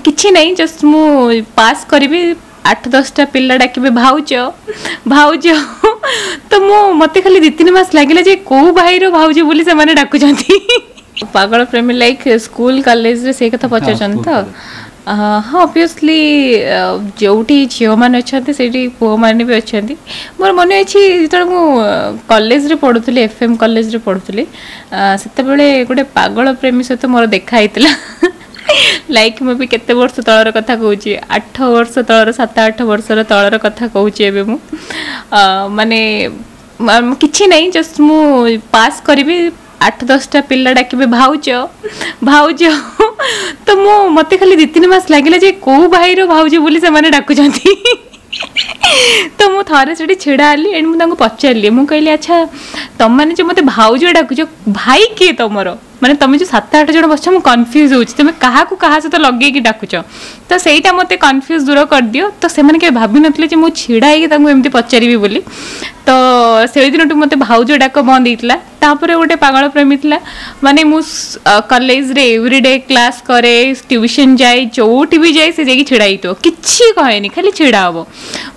କିଛି ନାହିଁ, ଜଷ୍ଟ ମୁଁ ପାସ୍ କରିବି, 8-10ଟା ପିଲା ଡାକିବେ ଭାଉଜ ଭାଉଜ। ତ ମୁଁ ମୋତେ ଖାଲି 2-3 ମାସ ଲାଗିଲା ଯେ କୋଉ ଭାଇର ଭାଉଜ ବୋଲି ସେମାନେ ଡାକୁଛନ୍ତି। ପାଗଳ ପ୍ରେମୀ ଲାଇକ୍ ସ୍କୁଲ କଲେଜରେ, ସେଇ କଥା ପଚାରୁଛନ୍ତି ତ? ହଁ, ଅବଭିୟସଲି ଯେଉଁଠି ଝିଅମାନେ ଅଛନ୍ତି, ସେଇଠି ପୁଅମାନେ ବି ଅଛନ୍ତି। ମୋର ମନେ ଅଛି, ଯେତେବେଳେ ମୁଁ କଲେଜରେ ପଢ଼ୁଥିଲି, ଏଫ୍ ଏମ୍ କଲେଜରେ ପଢ଼ୁଥିଲି, ସେତେବେଳେ ଗୋଟେ ପାଗଳ ପ୍ରେମୀ ସହିତ ମୋର ଦେଖା ହେଇଥିଲା। ଲାଇକ୍ ମୁଁ ବି କେତେ ବର୍ଷ ତଳର କଥା କହୁଛି, 8 ବର୍ଷ ତଳର, 7-8 ବର୍ଷର ତଳର କଥା କହୁଛି ଏବେ ମୁଁ। ମାନେ କିଛି ନାହିଁ, ଜଷ୍ଟ ମୁଁ ପାସ୍ କରିବି, 8-10ଟା ପିଲା ଡାକିବେ ଭାଉଜ ଭାଉଜ। ତ ମୁଁ ମୋତେ ଖାଲି 2-3 ମାସ ଲାଗିଲା ଯେ କୋଉ ଭାଇର ଭାଉଜ ବୋଲି ସେମାନେ ଡାକୁଛନ୍ତି। ତ ମୁଁ ଥରେ ସେଠି ଛିଡ଼ା ହେଲି ଏଣ୍ଡ ମୁଁ ତାଙ୍କୁ ପଚାରିଲି, ମୁଁ କହିଲି, "ଆଚ୍ଛା, ତମମାନେ ଯେଉଁ ମୋତେ ଭାଉଜ ଡାକୁଛ, ଭାଇ କିଏ ତମର? ମାନେ ତମେ ଯେଉଁ 7-8 ଜଣ ବସିଛ, ମୁଁ କନଫ୍ୟୁଜ୍ ହେଉଛି, ତମେ କାହାକୁ କାହା ସହିତ ଲଗେଇକି ଡାକୁଛ? ତ ସେଇଟା ମୋତେ କନଫ୍ୟୁଜ୍ ଦୂର କରିଦିଅ।" ତ ସେମାନେ କେବେ ଭାବିନଥିଲେ ଯେ ମୁଁ ଛିଡ଼ା ହେଇକି ତାଙ୍କୁ ଏମିତି ପଚାରିବି ବୋଲି। ତ ସେଇଦିନଠୁ ମୋତେ ଭାଉଜ ଡାକ ବନ୍ଦ ହେଇଥିଲା। ତାପରେ ଗୋଟେ ପାଗଳ ପ୍ରେମୀ ଥିଲା। ମାନେ ମୁଁ କଲେଜରେ ଏଭ୍ରିଡେ କ୍ଲାସ୍ କରେ, ଟ୍ୟୁସନ୍ ଯାଏ, ଯେଉଁଠି ବି ଯାଏ ସେ ଯାଇକି ଛିଡ଼ା ହେଇଥିବ। କିଛି କହେନି, ଖାଲି ଛିଡ଼ା ହବ।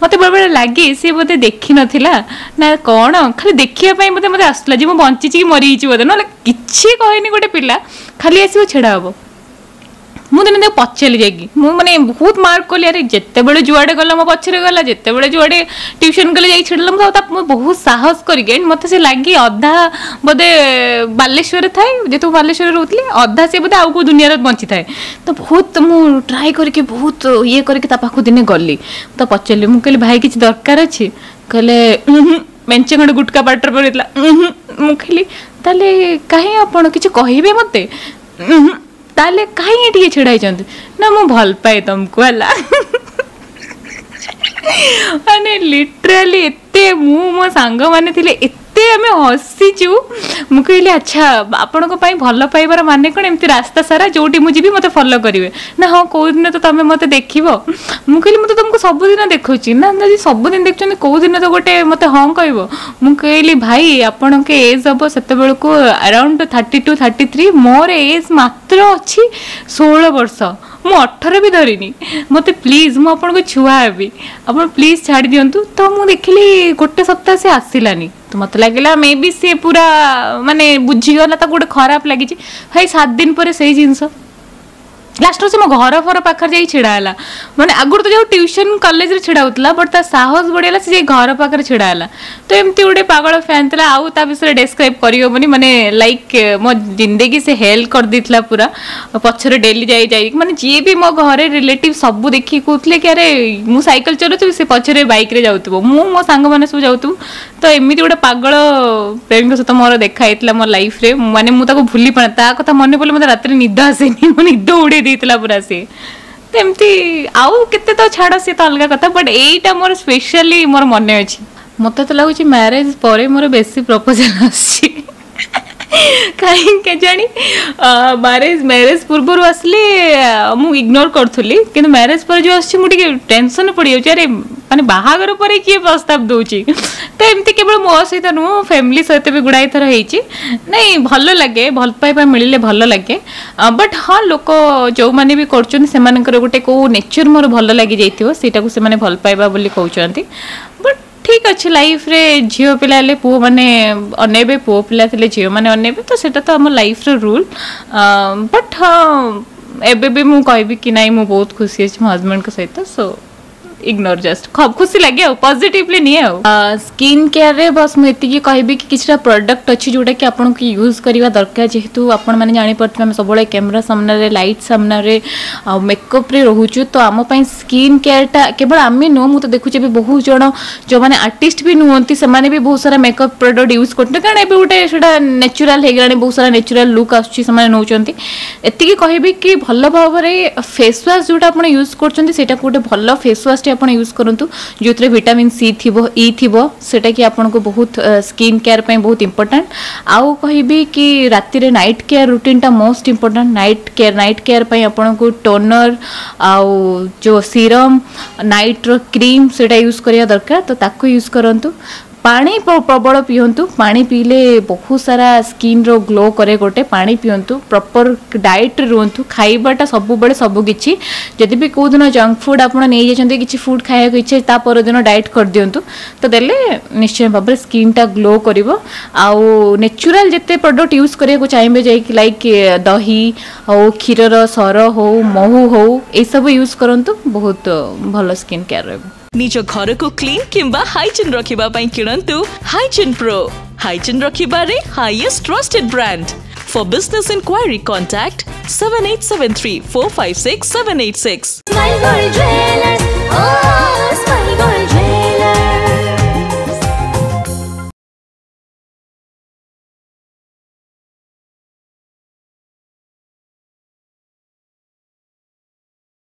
ମୋତେ ବେଳେବେଳେ ଲାଗେ ସେ ବୋଧେ ଦେଖିନଥିଲା ନା କ'ଣ, ଖାଲି ଦେଖିବା ପାଇଁ ବୋଧେ ମୋତେ ଆସୁଥିଲା ଯେ ମୁଁ ବଞ୍ଚିଛି କି ମରିଯାଇଛି ବୋଧେ। ନହେଲେ କିଛି କହେନି, ଗୋଟେ ପିଲା ଖାଲି ଆସିବ, ଛିଡ଼ା ହବ। ମୁଁ ଦିନେ ତାକୁ ପଚାରିଲି ଯାଇକି, ମୁଁ ମାନେ ବହୁତ ମାର୍କ କଲି, ଆରେ ଯେତେବେଳେ ଯୁଆଡ଼େ ଗଲା ମୋ ପଛରେ ଗଲା, ଯେତେବେଳେ ଯୁଆଡ଼େ ଟ୍ୟୁସନ୍ କଲେ ଯାଇକି ଛିଡ଼ଲା। ମୁଁ ତା ମୁଁ ବହୁତ ସାହସ କରିକି, and ମୋତେ ସେ ଲାଗି ଅଧା ବୋଧେ ବାଲେଶ୍ୱରରେ ଥାଏ, ଯେହେତୁ ମୁଁ ବାଲେଶ୍ୱରରେ ରହୁଥିଲି, ଅଧା ସେ ବୋଧେ ଆଉ କେଉଁ ଦୁନିଆରେ ବଞ୍ଚିଥାଏ। ତ ବହୁତ ମୁଁ ଟ୍ରାଏ କରିକି, ବହୁତ ଇଏ କରିକି ତା ପାଖକୁ ଦିନେ ଗଲି। ତ ପଚାରିଲି, ମୁଁ କହିଲି, "ଭାଇ, କିଛି ଦରକାର ଅଛି?" କହିଲେ, "ଉହୁଁ।" ମେଞ୍ଚେ ଖଣ୍ଡେ ଗୁଟକା ପାଟିରେ ପଡ଼ିଥିଲା। "ଉହୁଁ।" ମୁଁ କହିଲି, "ତାହେଲେ କାହିଁ ଆପଣ କିଛି କହିବେ ମୋତେ?" "ଉହୁଁ।" "ତାହେଲେ କାହିଁ ଟିକେ ଛିଡ଼ା ହେଇଛନ୍ତି?" ନା, "ମୁଁ ଭଲ ପାଏ ତମକୁ।" ହେଲା, ମାନେ ଲିଟରାଲି ଏତେ ମୁଁ ମୋ ସାଙ୍ଗମାନେ ଥିଲେ, ଏତେ ଆମେ ହସିଛୁ। ମୁଁ କହିଲି, "ଆଚ୍ଛା, ଆପଣଙ୍କ ପାଇଁ ଭଲ ପାଇବାର ମାନେ କ'ଣ ଏମିତି ରାସ୍ତା ସାରା ଯୋଉଠି ମୁଁ ଯିବି ମୋତେ ଫଲୋ କରିବେ?" ନା, "ହଁ, କୋଉଦିନ ତ ତମେ ମୋତେ ଦେଖିବ।" ମୁଁ କହିଲି, "ମୁଁ ତ ତମକୁ ସବୁଦିନ ଦେଖୁଛି।" ନା, ଯଦି ସବୁଦିନ ଦେଖୁଛନ୍ତି, କୋଉଦିନ ତ ଗୋଟେ ମୋତେ ହଁ କହିବ। ମୁଁ କହିଲି, "ଭାଇ, ଆପଣଙ୍କ ଏଜ୍ ହବ ସେତେବେଳକୁ ଆରାଉଣ୍ଡ 32-33, ମୋର ଏଜ୍ ମାତ୍ର ଅଛି 16 ବର୍ଷ, ମୁଁ 18 ବି ଧରିନି। ମୋତେ ପ୍ଲିଜ୍, ମୁଁ ଆପଣଙ୍କ ଛୁଆ ହେବି, ଆପଣ ପ୍ଲିଜ୍ ଛାଡ଼ି ଦିଅନ୍ତୁ।" ତ ମୁଁ ଦେଖିଲି ଗୋଟେ ସପ୍ତାହ ସେ ଆସିଲାନି। ତ ମୋତେ ଲାଗିଲା ମେ ବି ସିଏ ପୁରା ମାନେ ବୁଝିଗଲା, ତାକୁ ଗୋଟେ ଖରାପ ଲାଗିଛି। ଭାଇ, 7 ଦିନ ପରେ ସେଇ ଜିନିଷ। ଲାଷ୍ଟରେ ସେ ମୋ ଘର ଫର ପାଖରେ ଯାଇ ଛିଡ଼ା ହେଲା। ମାନେ ଆଗରୁ ତ ଯୋଉ ଟ୍ୟୁସନ୍ କଲେଜରେ ଛିଡ଼ା ହଉଥିଲା, ବଟ୍ ତା ସାହସ ବଢ଼ିଗଲା, ସେ ଯାଇ ଘର ପାଖରେ ଛିଡ଼ା ହେଲା। ତ ଏମିତି ଗୋଟେ ପାଗଳ ଫ୍ୟାନ୍ ଥିଲା, ଆଉ ତା ବିଷୟରେ ଡେସ୍କ୍ରାଇବ୍ କରିହେବନି। ମାନେ ଲାଇକ୍ ମୋ ଜିନ୍ଦଗି ସେ ହେଲ୍ କରିଦେଇଥିଲା ପୁରା। ପଛରେ ଡେଲି ଯାଇ ଯାଇ, ମାନେ ଯିଏ ବି ମୋ ଘରେ ରିଲେଟିଭ୍ ସବୁ ଦେଖିକି କହୁଥିଲେ କି ଆରେ, ମୁଁ ସାଇକେଲ ଚଲାଉଥିବି, ସେ ପଛରେ ବାଇକ୍ରେ ଯାଉଥିବ, ମୁଁ ମୋ ସାଙ୍ଗମାନେ ସବୁ ଯାଉଥିବୁ। ତ ଏମିତି ଗୋଟେ ପାଗଳ ପ୍ରେମୀଙ୍କ ସହିତ ମୋର ଦେଖା ହେଇଥିଲା ମୋ ଲାଇଫରେ। ମାନେ ମୁଁ ତାକୁ ଭୁଲି ପାରେ, ତା କଥା ମନେ ପଡ଼ିଲେ ମୋତେ ରାତିରେ ନିଦ ଆସେନି, ମୋ ନିଦ ଉଡ଼େଇ ଦେଇଥିଲା ପୁରା ସିଏ। ତ ଏମିତି ଆଉ କେତେ ତ ଛାଡ଼, ସିଏ ତ ଅଲଗା କଥା, ବଟ୍ ଏଇଟା ମୋର ସ୍ପେଶାଲି ମୋର ମନେ ଅଛି। ମୋତେ ତ ଲାଗୁଛି ମ୍ୟାରେଜ ପରେ ମୋର ବେଶୀ ପ୍ରପୋଜାଲ ଆସୁଛି। କାହିଁକି କେଜାଣି, ମ୍ୟାରେଜ ପୂର୍ବରୁ ଆସିଲେ ମୁଁ ଇଗ୍ନୋର କରୁଥିଲି, କିନ୍ତୁ ମ୍ୟାରେଜ ପରେ ଯେଉଁ ଆସୁଛି ମୁଁ ଟିକେ ଟେନସନ୍ ପଡ଼ିଯାଉଛି, ଆରେ ମାନେ ବାହାଘର ପରେ କିଏ ପ୍ରସ୍ତାବ ଦେଉଛି? ତ ଏମିତି କେବଳ ମୋ ସହିତ ନୁହଁ, ମୋ ଫ୍ୟାମିଲି ସହିତ ବି ଗୁଡ଼ାଏ ଥର ହେଇଛି। ନାଇଁ, ଭଲ ଲାଗେ, ଭଲ ପାଇବା ମିଳିଲେ ଭଲ ଲାଗେ। ବଟ୍ ହଁ, ଲୋକ ଯେଉଁମାନେ ବି କରୁଛନ୍ତି, ସେମାନଙ୍କର ଗୋଟେ କେଉଁ ନେଚର ମୋର ଭଲ ଲାଗିଯାଇଥିବ, ସେଇଟାକୁ ସେମାନେ ଭଲ ପାଇବା ବୋଲି କହୁଛନ୍ତି। ବଟ୍ ଠିକ୍ ଅଛି, ଲାଇଫରେ ଝିଅ ପିଲା ହେଲେ ପୁଅମାନେ ଅନେଇବେ, ପୁଅ ପିଲା ଥିଲେ ଝିଅମାନେ ଅନେଇବେ, ତ ସେଇଟା ତ ଆମ ଲାଇଫର ରୁଲ୍। ବଟ୍ ହଁ, ଏବେ ବି ମୁଁ କହିବି କି ନାଇଁ, ମୁଁ ବହୁତ ଖୁସି ଅଛି ମୋ ହଜବେଣ୍ଡଙ୍କ ସହିତ। ସୋ ଇଗ୍ନୋର, ଜଷ୍ଟ ଖୁସି ଲାଗେ ଆଉ ପଜିଟିଭଲି ନିଏ। ଆଉ ସ୍କିନ୍ କେୟାରରେ ବସ୍ ମୁଁ ଏତିକି କହିବି କି କିଛିଟା ପ୍ରଡକ୍ଟ ଅଛି ଯେଉଁଟାକି ଆପଣଙ୍କୁ ୟୁଜ୍ କରିବା ଦରକାର। ଯେହେତୁ ଆପଣମାନେ ଜାଣିପାରୁଥିବେ, ଆମେ ସବୁବେଳେ କ୍ୟାମେରା ସାମ୍ନାରେ, ଲାଇଟ୍ ସାମ୍ନାରେ ଆଉ ମେକଅପ୍ରେ ରହୁଛୁ, ତ ଆମ ପାଇଁ ସ୍କିନ୍ କେୟାରଟା, କେବଳ ଆମେ ନୁହଁ, ମୁଁ ତ ଦେଖୁଛି ଏବେ ବହୁତ ଜଣ ଯେଉଁମାନେ ଆର୍ଟିଷ୍ଟ ବି ନୁହନ୍ତି, ସେମାନେ ବି ବହୁତ ସାରା ମେକଅପ୍ ପ୍ରଡକ୍ଟ ୟୁଜ୍ କରୁଛନ୍ତି, କାରଣ ଏବେ ଗୋଟେ ସେଇଟା ନ୍ୟାଚୁରାଲ ହେଇଗଲାଣି, ବହୁତ ସାରା ନ୍ୟାଚୁରାଲ ଲୁକ୍ ଆସୁଛି, ସେମାନେ ନେଉଛନ୍ତି। ଏତିକି କହିବି କି ଭଲ ଭାବରେ ଫେସ୍ ୱାଶ୍ ଯେଉଁଟା ଆପଣ ୟୁଜ୍ କରୁଛନ୍ତି, ସେଇଟାକୁ ଗୋଟେ ଭଲ ଫେସ୍ ୱାଶ୍ଟି ଆପଣ ୟୁଜ୍ କରନ୍ତୁ, ଯେଉଁଥିରେ ଭିଟାମିନ୍ ସି ଥିବ, ଇ ଥିବ, ସେଇଟା କି ଆପଣଙ୍କୁ ବହୁତ ସ୍କିନ୍ କେୟାର ପାଇଁ ବହୁତ ଇମ୍ପୋର୍ଟାଣ୍ଟ। ଆଉ କହିବି କି ରାତିରେ ନାଇଟ୍ କେୟାର ରୁଟିନ୍ଟା most important. Night care ପାଇଁ ଆପଣଙ୍କୁ ଟୋନର ଆଉ ଯେଉଁ ସିରମ୍, ନାଇଟ୍ର କ୍ରିମ୍, ସେଇଟା ୟୁଜ୍ କରିବା ଦରକାର, ତ ତାକୁ ୟୁଜ୍ କରନ୍ତୁ। ପାଣି ପ୍ରବଳ ପିଅନ୍ତୁ। ପାଣି ପିଇଲେ ବହୁତ ସାରା ସ୍କିନ୍ର ଗ୍ଲୋ କରେ। ଗୋଟେ ପାଣି ପିଅନ୍ତୁ, ପ୍ରପର୍ ଡାଏଟ୍ରେ ରୁହନ୍ତୁ। ଖାଇବାଟା ସବୁବେଳେ ସବୁ କିଛି। ଯଦି ବି କେଉଁଦିନ ଜଙ୍କ ଫୁଡ଼୍ ଆପଣ ନେଇଯାଇଛନ୍ତି, କିଛି ଫୁଡ଼୍ ଖାଇବାକୁ ଇଚ୍ଛା, ତା ପରଦିନ ଡାଏଟ୍ କରିଦିଅନ୍ତୁ ତ ଦେଲେ ନିଶ୍ଚୟ ଭାବରେ ସ୍କିନ୍ଟା ଗ୍ଲୋ କରିବ। ଆଉ ନେଚୁରାଲ୍ ଯେତେ ପ୍ରଡ଼କ୍ଟ ୟୁଜ୍ କରିବାକୁ ଚାହିଁବେ, ଯାଇକି ଲାଇକ୍ ଦହି ହଉ, କ୍ଷୀରର ସର ହଉ, ମହୁ ହଉ, ଏଇସବୁ ୟୁଜ୍ କରନ୍ତୁ, ବହୁତ ଭଲ ସ୍କିନ୍ କେୟାର ରହିବ। ନିଜ ଘରକୁ କ୍ଲିନ୍ କିମ୍ବା ହାଇଜିନ୍ ରଖିବା ପାଇଁ କିଣନ୍ତୁ ହାଇଜିନ୍ ପ୍ରୋ। ହାଇଜିନ୍ ରଖିବାରେ highest trusted brand. For business inquiry, contact 7873456786. Smile Gold Jewelers. Oh,